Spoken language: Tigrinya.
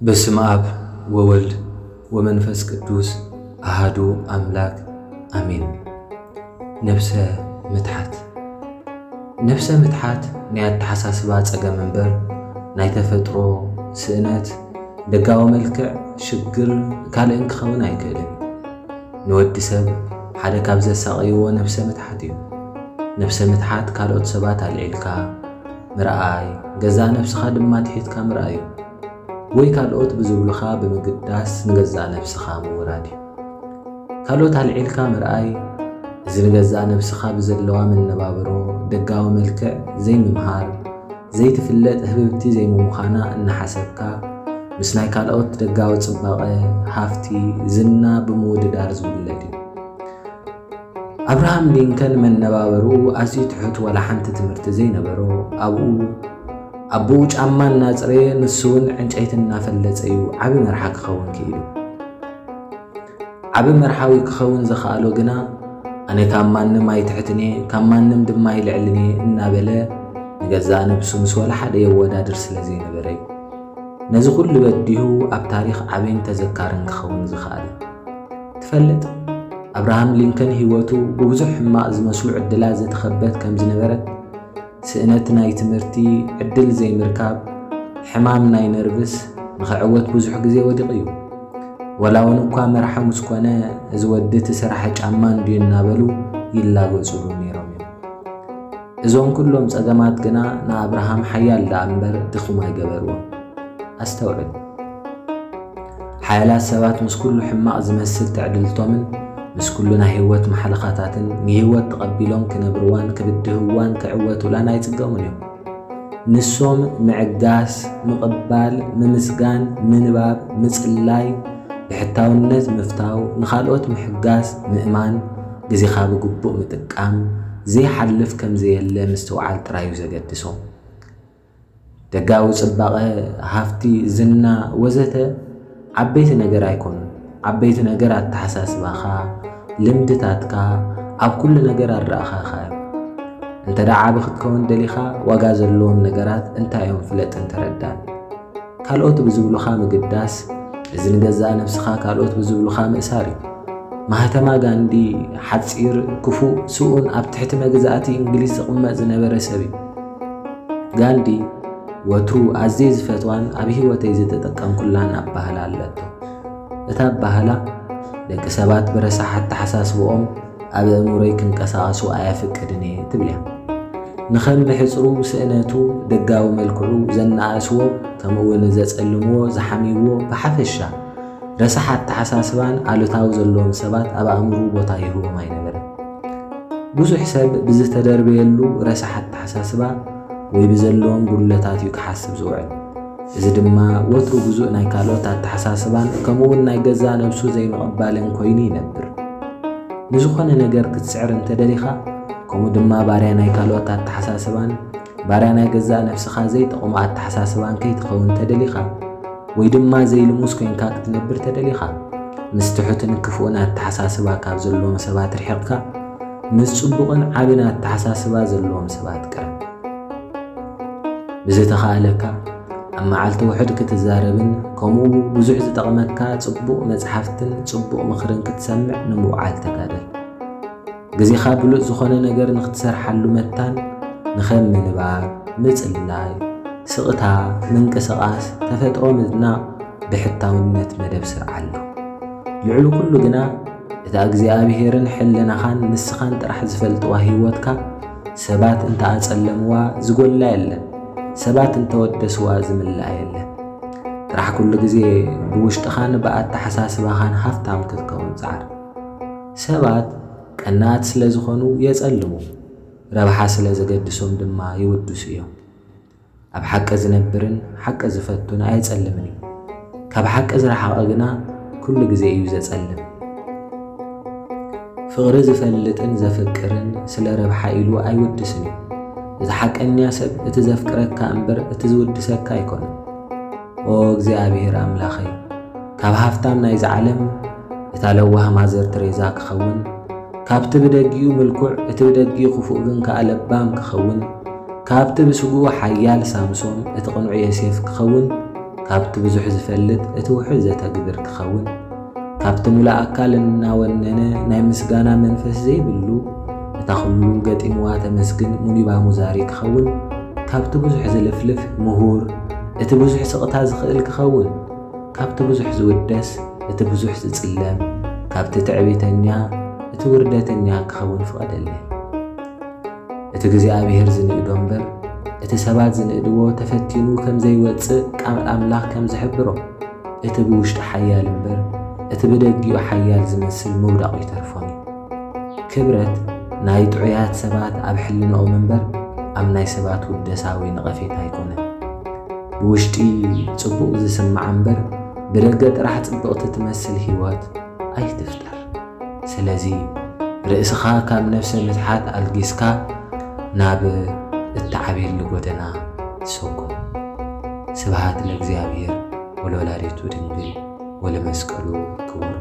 በስመ አብ ወወልድ ወመንፈስ ቅዱስ አሃዱ አምላክ አሜን። ነፍሰ ምትሓት። ነፍሰ ምትሓት ናይ ኣተሓሳስባ ጸገም እምበር ናይ ተፈጥሮ ስእነት፣ ደጋዊ መልክዕ፣ ሽግር ካልእን ክኸውን ኣይክእልን። ንወዲ ሰብ ሓደ ካብ ዘሳቐይዎ ነፍሰ ምትሓት እዩ። ነፍሰ ምትሓት ካልኦት ሰባት ኣልዒልካ ምርኣይ፣ ገዛእ ነፍስኻ ድማ ትሒትካ ምርኣይ እዩ። ወይ ካልኦት ብዝብሉኻ ብምግዳስ ንገዛእ ነፍስኻ ምውራድ እዩ። ካልኦት ኣልዒልካ ምርኣይ፣ እዚ ንገዛእ ነፍስኻ ብዘለዋ መነባብሮ፣ ደጋዊ መልክዕ ዘይምምሃር፣ ዘይትፍለጥ ህብብቲ ዘይምዃና እናሓሰብካ፣ ምስ ናይ ካልኦት ደጋዊ ጽባቐ፣ ሃፍቲ፣ ዝና ብምውድዳር ዝውለድ እዩ። ኣብርሃም ሊንከን መነባብርኡ ኣዝዩ ትሑት፣ ዋላ ሓንቲ ትምህርቲ ዘይነበሮ፣ ኣብኡ ኣቦኡ ጫማ እናጽረየ ንሱ እውን ዕንጨይቲ እናፈለጸ እዩ ዓቢ መርሓ ክኸውን ክኢሉ። ዓቢ መርሓዊ ክኸውን ዝኸኣሎ ግና ኣነ ካብ ማንም ኣይትሕትን እየ፣ ካብ ማንም ድማ ኣይልዕልን እየ እናበለ ንገዛእ ነብሱ ምስ ወላ ሓደ የወዳድር ስለ ዘይነበረ እዩ። ነዚ ኩሉ በዲሁ ኣብ ታሪኽ ዓብይን ተዘካርን ክኸውን ዝኸኣለ። ትፈልጥ፣ ኣብርሃም ሊንከን ህይወቱ ብብዙሕ ሕማቕ ዝመስሉ ዕድላት ዝተኸበት ከም ዝነበረት፣ ስእነት ናይ ትምህርቲ ዕድል ዘይምርካብ፣ ሕማም ናይ ነርቭስ ንኽዕወት ብዙሕ ግዜ ወዲቑ እዩ። ወላ እውን እኳ መርሓ ምስ ኮነ፣ እዚ ወዲ እቲ ስራሕ ጫማ እንድዩ እናበሉ ይላገጹሉ ነይሮም እዮም። እዞም ኩሎም ጸገማት ግና ንኣብርሃም ሓያል ደኣ እምበር ድኹም ኣይገበርዎን። ኣስተውዕል። ሓያላት ሰባት ምስ ኩሉ ሕማቕ ዝመስል ትዕድልቶምን ምስ ኩሉ ናይ ህይወት ማሕለኻታትን ንህይወት ተቐቢሎም ክነብርዋን ክብድህዋን ክዕወቱላን ኣይጽገሙን እዮም። ንሶም ምዕጋስ፣ ምቕባል፣ ምምስጋን፣ ምንባብ፣ ምጽላይ፣ ብሕታውነት ምፍታው፣ ንኻልኦት ምሕጋዝ፣ ምእማን፣ ግዜኻ ብግቡእ ምጥቃም፣ ዘይሓልፍ ከም ዘየለ ምስትውዓል ጥራይ እዩ ዘገድሶም። ደጋዊ ጽባቐ፣ ሃፍቲ፣ ዝና ወዘተ ዓበይቲ ነገር ኣይኮኑን። ዓበይቲ ነገር ኣተሓሳስባኻ፣ ልምድታትካ፣ ኣብ ኩሉ ነገር ኣረኣኻኻ እዮም። እንተ ደኣ ዓቢ ክትከውን ደሊኻ፣ ዋጋ ዘለዎም ነገራት እንታይ እዮም ፍለጥን ተረዳን። ካልኦት ብዝብሉኻ ምግዳስ፣ እዚ ንገዛእ ነብስኻ ካልኦት ብዝብሉኻ ምእሳር እዩ። ማህተማ ጋንዲ ሓጺር፣ ክፉእ፣ ስኡን ኣብ ትሕቲ መግዛእቲ እንግሊዝ ዝቕመጥ ዝነበረ ሰብ እዩ። ጋንዲ ወትሩ ኣዝየ ዝፈትዋን ኣብ ህይወተይ ዝተጠቀምኩላን ኣባህላ ኣለቶ። እታ ኣባህላ፣ ደቂ ሰባት ብረሳሕ ኣተሓሳስብኦም ኣብ ኣእምሮይ ክንቀሳቐሱ ኣየፍቅድን እየ ትብል እያ። ንኸም ብሕጽሩ ስእነቱ፣ ደጋዊ መልክዑ ዘነኣእስዎ፣ ከምኡ እውን ዘጸልምዎ፣ ዝሓምይዎ፣ ብሓፈሻ ረሳሕ ኣተሓሳስባን ኣሉታዊ ዘለዎም ሰባት ኣብ ኣእምሮኡ ቦታ ይህቦም ኣይነበረን። ብዙሕ ሰብ ብዝተደርበየሉ ረሳሕ ኣተሓሳስባ ወይ ብዘለዎም ጉድለታት እዩ ክሓስብ ዝውዕል። እዚ ድማ ወትሩ ግዙእ ናይ ካልኦት ኣተሓሳስባን ከምኡውን ናይ ገዛእ ነብሱ ዘይምቕባልን ኮይኑ ይነብር። ንዝኾነ ነገር ክትስዕር እንተደሊኻ፣ ከምኡ ድማ ባርያ ናይ ካልኦት ኣተሓሳስባን ባርያ ናይ ገዛእ ነብስኻ ዘይጠቕሙ ኣተሓሳስባን ከይትኸውን እንተደሊኻ፣ ወይ ድማ ዘይልሙስ ኮይንካ ክትነብር ተደሊኻ፣ ምስ ትሑትን ክፉእን ኣተሓሳስባ ካብ ዘለዎም ሰባት ርሒቕካ፣ ምስ ጽቡቕን ዓብን ኣተሓሳስባ ዘለዎም ሰባት ቅረብ። ብዝተኻእለካ፣ ኣብ መዓልቲ ውሑድ ክትዛረብን ከምኡ ብዙሕ ዝጠቕመካ ጽቡቕ መጽሓፍትን ጽቡቕ ምኽርን ክትሰምዕ ንምውዓል ተጋደል። ግዜኻ ብሉጽ ዝኾነ ነገር ንኽትሰርሓሉ መታን፣ ንኸም ምንባብ፣ ምጽላይ፣ ስቕታ፣ ምንቅስቓስ፣ ተፈጥሮ ምድናቕ ብሕታውነት መደብ ስርዓሉ። ልዕሊ ኩሉ ግና፣ እታ እግዚኣብሄርን ሕልናኻን ንስኻን ጥራሕ ዝፈልጥዋ ህይወትካ፣ ሰባት እንተ ኣጸለምዋ ዝጎላ የለን፣ ሰባት እንተ ወደስዋ ዝምላእ የለን። ጥራሕ ኩሉ ግዜ ብውሽጥኻን ብኣተሓሳስባኻን ሃፍታም ክትከውን ጸዓር። ሰባት ቀናኣት ስለ ዝኾኑ የጸልሙ፣ ረብሓ ስለ ዘገድሶም ድማ ይውድሱ እዮም። ኣብ ሓቂ ዝነብርን ሓቂ ዝፈቱን ኣየጸልምን እዩ። ካብ ሓቂ ዝረሓቐ ግና ኩሉ ግዜ እዩ ዘጸልም። ፍቕሪ ዝፈልጥን ዘፍቅርን ስለ ረብሓ ኢሉ ኣይውድስን እዩ። እቲ ሓቀኛ ሰብ እቲ ዘፍቅረካ እምበር እቲ ዝውድሰካ ኣይኮነን። ኦ እግዚኣብሔር ኣምላኸይ፣ ካብ ሃፍታም ናይዚ ዓለም እታ ለዋህ ማዘር ትሬዛ ክኸውን፣ ካብቲ ብደጊኡ ምልኩዕ እቲ ብደጊኡ ክፉእ ግን ከኣ ለባም ክኸውን፣ ካብቲ ብስግኡ ሓያል ሳምሶም እቲ ቅኑዕ ዮሴፍ ክኸውን፣ ካብቲ ብዙሕ ዝፈልጥ እቲ ውሑድ ዘተግብር ክኸውን፣ ካብቲ ሙሉእ ኣካል እናወነነ ናይ ምስጋና መንፈስ ዘይብሉ፣ እታ ኩሉ ገጢምዋ ተመስግን ሙኒባ ሙዛሪ ክኸውን፣ ካብቲ ብዙሕ ዝልፍልፍ ምሁር፣ እቲ ብዙሕ ስቕታ ዝኽእል ክኸውን፣ ካብቲ ብዙሕ ዝውደስ እቲ ብዙሕ ዝጽለም፣ ካብቲ ትዕቢተኛ እቲ ውርደተኛ ክኸውን ፍቐደለይ። እቲ እግዚኣብሔር ዝንእዶ እምበር፣ እቲ ሰባት ዝንእድዎ ተፈቲኑ ከም ዘይወጽእ ቃል ኣምላኽ ከም ዝሕብሮ፣ እቲ ብውሽጢ ሓያል እምበር፣ እቲ ብደጊኡ ሓያል ዝመስል ምውዳቑ ይተርፎን እዩ። ክብረት ናይ ጥዑያት ሰባት ኣብ ሕልናኦም እምበር፣ ኣብ ናይ ሰባት ውደሳዊ ነቐፌታ ኣይኮነን። ብውሽጢ ጽቡቕ ዝስምዓ እምበር፣ ብደገ ጥራሕ ጽብቕቲ ትመስል ህይወት ኣይትፍጠር። ስለዚ ርእስኻ ካብ ነፍሰ ምትሓት ኣልጊስካ ናብ እትዓብየሉ ጎደና ሰጉም። ስብሃት ለእግዚኣብሔር ወለወላዲቱ ድንግል ወለመስቀሉ ክቡር።